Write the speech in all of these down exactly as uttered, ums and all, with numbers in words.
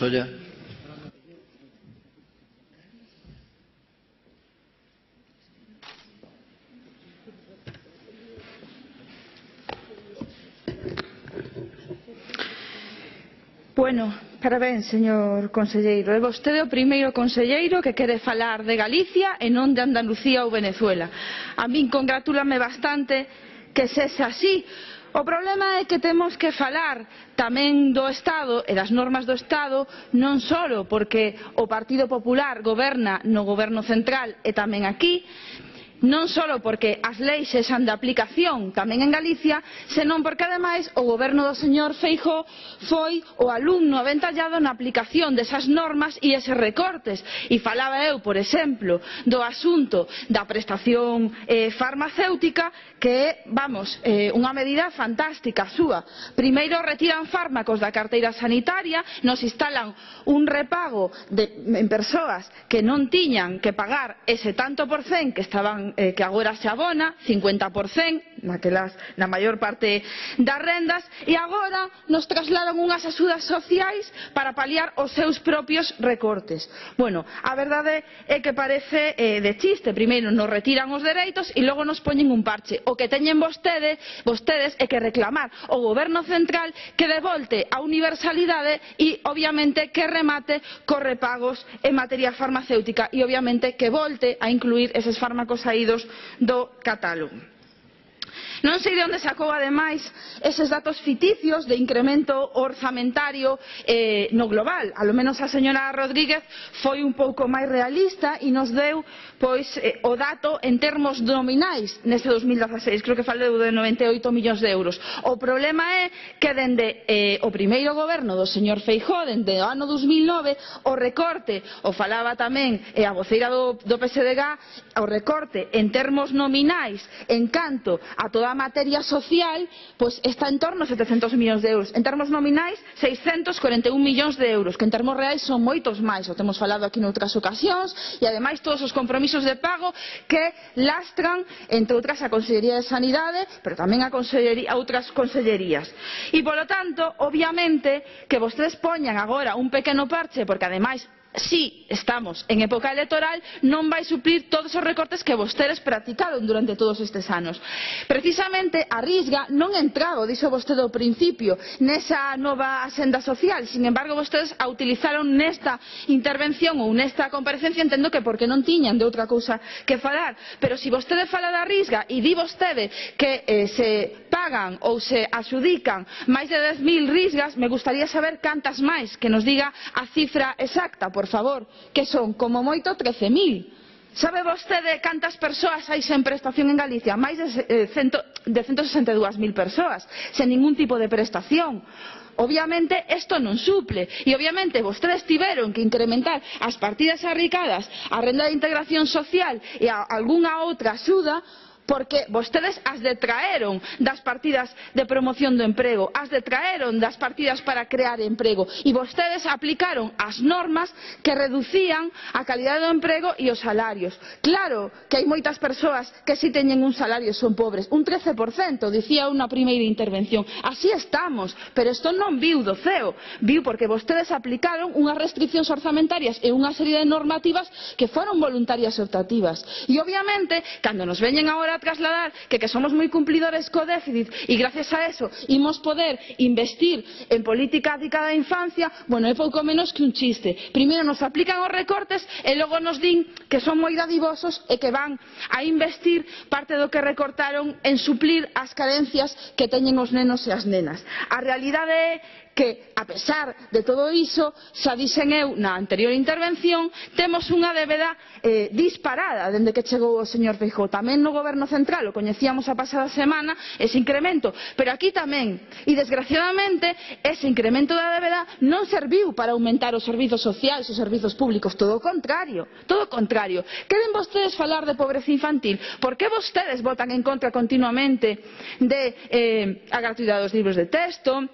Solla. Bueno, parabéns, señor conselleiro. É vostede o primeiro conselleiro que quere falar de Galicia e non de Andalucía ou Venezuela. A min congratúlame bastante que sexa así. O problema é que temos que falar tamén do Estado e das normas do Estado, non só porque o Partido Popular goberna no goberno central e tamén aquí, non só porque as leis sexan de aplicación tamén en Galicia, senón porque ademais o goberno do señor Feijóo foi o alumno aventallado na aplicación desas normas e eses recortes. E falaba eu, por exemplo, do asunto da prestación eh, farmacéutica, que é, vamos, eh, unha medida fantástica súa. Primeiro retiran fármacos da carteira sanitaria, nos instalan un repago de, en persoas que non tiñan que pagar ese tanto por cen que estaban Eh, que agora se abona, cincuenta por cen naquelas, na maior parte das rendas, e agora nos trasladan unhas axudas sociais para paliar os seus propios recortes. Bueno, a verdade é que parece eh, de chiste. Primeiro nos retiran os dereitos e logo nos poñen un parche. O que teñen vostede, vostedes é que reclamar ao goberno central que devolte a universalidade e, obviamente, que remate cos repagos en materia farmacéutica e, obviamente, que volte a incluir eses fármacos aí do catálogo. Non sei de onde sacou, ademais, eses datos ficticios de incremento orzamentario eh, no global. A lo menos a señora Rodríguez foi un pouco máis realista e nos deu pois, eh, o dato en termos nominais neste dos mil dezaseis. Creo que falou de noventa e oito millóns de euros. O problema é que dende eh, o primeiro goberno do señor Feijóo, dende o ano dos mil nove, o recorte, o falaba tamén eh, a voceira do, do P S D G, o recorte en termos nominais en canto a toda a materia social, pois está en torno a setecentos millóns de euros. En termos nominais, seiscentos cuarenta e un millóns de euros, que en termos reais son moitos máis. O temos falado aquí noutras ocasións, e ademais todos os compromisos de pago que lastran, entre outras, a Consellería de Sanidade, pero tamén a, a outras consellerías. E, polo tanto, obviamente, que vostedes poñan agora un pequeno parche, porque ademais si estamos en época electoral, non vai suplir todos os recortes que vostedes practicaron durante todos estes anos. Precisamente a Risga non entraba, dixo vostede ao principio, nesa nova axenda social. Sin embargo, vostedes a utilizaron nesta intervención ou nesta comparecencia, entendo que porque non tiñan de outra cousa que falar. Pero se vostede fala da Risga e di vostede que eh, se pagan ou se adxudican máis de dez mil risgas, me gustaría saber cantas máis, que nos diga a cifra exacta, por favor, que son como moito trece mil. Sabe vostede cantas persoas hai sen prestación en Galicia? Máis de, eh, cento, de ciento sesenta e dúas mil persoas, sen ningún tipo de prestación. Obviamente isto non suple, e obviamente vostedes tiveron que incrementar as partidas arricadas, a renda de integración social e a algunha outra axuda, porque vostedes as detraeron das partidas de promoción do emprego, as detraeron das partidas para crear emprego, e vostedes aplicaron as normas que reducían a calidade do emprego e os salarios. Claro que hai moitas persoas que si teñen un salario e son pobres, un trece por cento, dicía unha primeira intervención. Así estamos, pero isto non viu do ceo, viu porque vostedes aplicaron unhas restriccións orzamentarias e unha serie de normativas que foron voluntarias e optativas. E obviamente, cando nos veñen agora a trasladar que, que somos moi cumplidores co déficit e gracias a eso imos poder investir en política dedicada á infancia, bueno, é pouco menos que un chiste. Primeiro nos aplican os recortes e logo nos din que son moi dadivosos e que van a investir parte do que recortaron en suplir as carencias que teñen os nenos e as nenas. A realidade é que, a pesar de todo iso, xa dixen eu na anterior intervención, temos unha débeda eh, disparada dende que chegou o señor Feijóo. Tamén no goberno central, o coñecíamos a pasada semana, ese incremento, pero aquí tamén. E, desgraciadamente, ese incremento da débeda non serviu para aumentar os servizos sociais, os servizos públicos, todo o contrario, todo o contrario. Queren vostedes falar de pobreza infantil? Por que vostedes votan en contra continuamente de eh, a gratuidade dos libros de texto,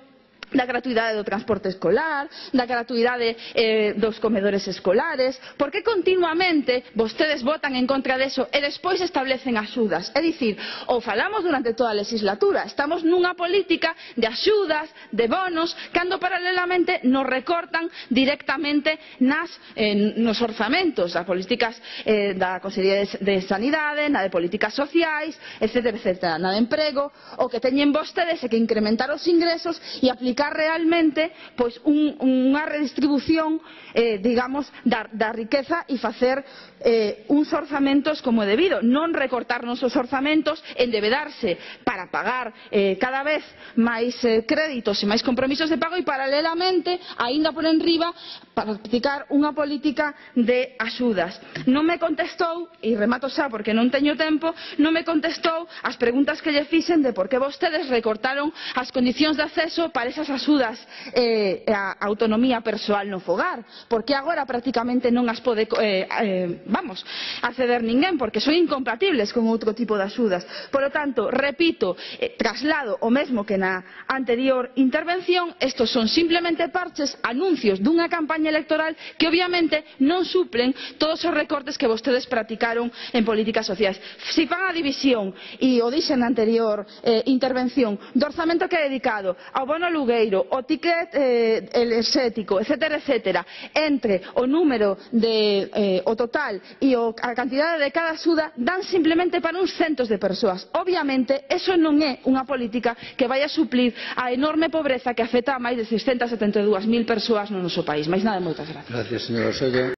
da gratuidade do transporte escolar, da gratuidade eh, dos comedores escolares. Por que continuamente vostedes votan en contra deso e despois establecen axudas? É dicir, ou falamos durante toda a legislatura, estamos nunha política de axudas, de bonos, cando paralelamente nos recortan directamente nas, eh, nos orzamentos das políticas eh, da Consellería de, de Sanidade, na de políticas sociais, etcétera, etcétera, na de emprego. O que teñen vostedes é que incrementar os ingresos e aplicar realmente pois, un, unha redistribución eh, digamos, da, da riqueza e facer eh, uns orzamentos como é debido, non recortarnos os orzamentos, endebedarse para pagar eh, cada vez máis eh, créditos e máis compromisos de pago e paralelamente, aínda por enriba, practicar unha política de axudas. Non me contestou, e remato xa porque non teño tempo, non me contestou as preguntas que lle fixen de por que vostedes recortaron as condicións de acceso para esas axudas eh, a autonomía persoal no fogar, porque agora prácticamente non as pode eh, eh, vamos, acceder ninguén, porque son incompatibles con outro tipo de axudas. Por lo tanto, repito, eh, traslado o mesmo que na anterior intervención, estos son simplemente parches, anuncios dunha campaña electoral que obviamente non suplen todos os recortes que vostedes practicaron en políticas sociais. Si fan a división, e o dixen na anterior eh, intervención, do orzamento que é dedicado ao bono alugueiro, o ticket eh, enerxético, etcétera, etcétera, entre o número de, eh, o total e o, a cantidade de cada axuda, dan simplemente para uns centos de persoas. Obviamente, eso non é unha política que vai a suplir a enorme pobreza que afecta a máis de seiscentas setenta e dúas mil persoas no noso país. Mais nada, moitas gracias. Gracias, señora Solla.